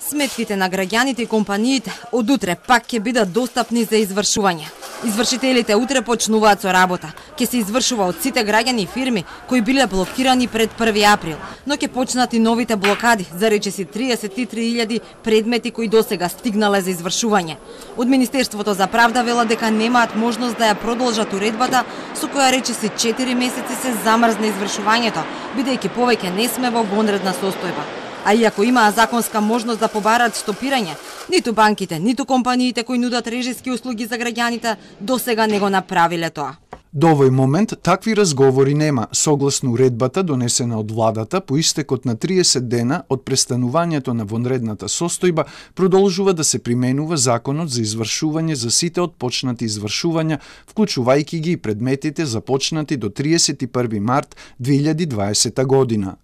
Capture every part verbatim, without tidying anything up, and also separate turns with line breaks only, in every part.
Сметките на граѓаните и компаниите од утре пак ќе бидат достапни за извршување. Извршителите утре почнуваат со работа. Ќе се извршува од сите граѓани и фирми кои биле блокирани пред први април, но ќе почнат и новите блокади за речиси триесет и три илјади предмети кои досега стигнале за извршување. Од Министерството за правда велат дека немаат можност да ја продолжат уредбата со која речиси четири месеци се замрзна извршувањето, бидејќи повеќе не сме во вонредна состојба. А иако имаа законска можност да побараат стопирање, ниту банките, ниту компаниите кои нудат режиски услуги за граѓаните досега не го направиле тоа.
До овој момент такви разговори нема, согласно уредбата донесена од владата по истекот на триесет дена од престанувањето на вонредната состојба продолжува да се применува законот за извршување за сите отпочнати извршувања, вклучувајќи ги и предметите започнати до триесет и први март две илјади дваесета година.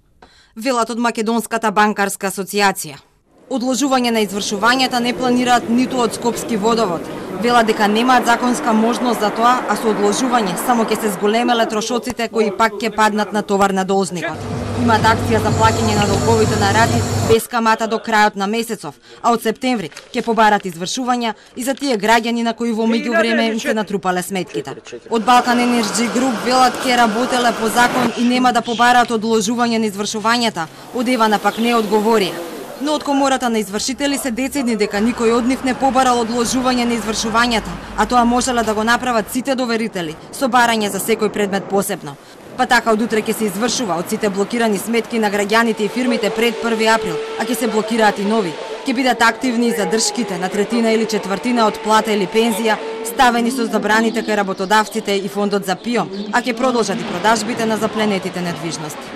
Велат од Македонската банкарска асоциација. Одложување на извршувањата не планираат ниту од Скопски водовод. Велат дека немаат законска можност за тоа, а со одложување само ќе се зголемеле трошоците кои пак ќе паднат на товар на должникот. Имаат акција за плаќање на долговите на рати без камата до крајот на месецов, а од септември ќе побарат извршувања и за тие граѓани на кои во меѓувреме им се натрупале сметките. Од Балкан Енерджи Груп велат ќе работеле по закон и нема да побараат одложување на извршувањата, од Евана пак не одговорија. Но од комората на извршители се децидни дека никој од нив не побарал одложување на извршувањата, а тоа можеле да го направат сите доверители, со барање за секој предмет посебно. Па така од утре ќе се извршува од сите блокирани сметки на граѓаните и фирмите пред први април, а ќе се блокираат и нови. Ќе бидат активни и задршките на третина или четвртина од плата или пензија, ставени со забраните кај работодавците и фондот за ПИО, а ќе продолжат и продажбите на запленетите недвижности.